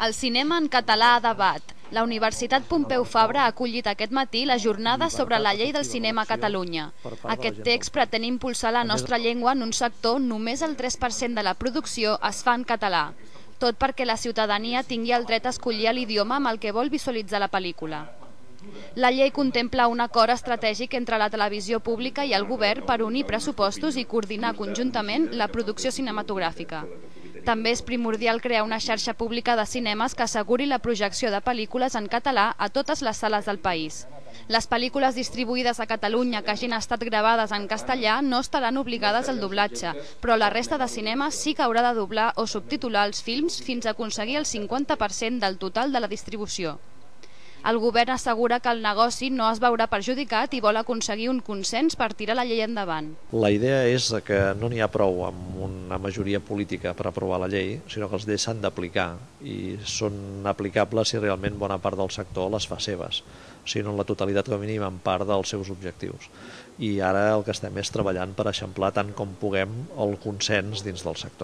El cinema en català a debat. La Universitat Pompeu Fabra ha acollit aquest matí la jornada sobre la llei del cinema a Catalunya. Aquest text pretén impulsar la nostra llengua en un sector on només el 3% de la producció es fa en català. Tot perquè la ciutadania tingui el dret a escollir l'idioma amb el que vol visualitzar la pel·lícula. La llei contempla un acord estratègic entre la televisió pública i el govern per unir pressupostos i coordinar conjuntament la producció cinematogràfica. També és primordial crear una xarxa pública de cinemes que asseguri la projecció de pel·lícules en català a totes les sales del país. Les pel·lícules distribuïdes a Catalunya que hagin estat gravades en castellà no estaran obligades al doblatge, però la resta de cinemes sí que haurà de doblar o subtitular els films fins a aconseguir el 50% del total de la distribució. El govern assegura que el negoci no es veurà perjudicat i vol aconseguir un consens per tirar la llei endavant. La idea és que no n'hi ha prou amb una majoria política per aprovar la llei, sinó que les lleis s'han d'aplicar i són aplicables si realment bona part del sector les fa seves, sinó en la totalitat com a mínim en part dels seus objectius. I ara el que estem és treballant per eixamplar tant com puguem el consens dins del sector.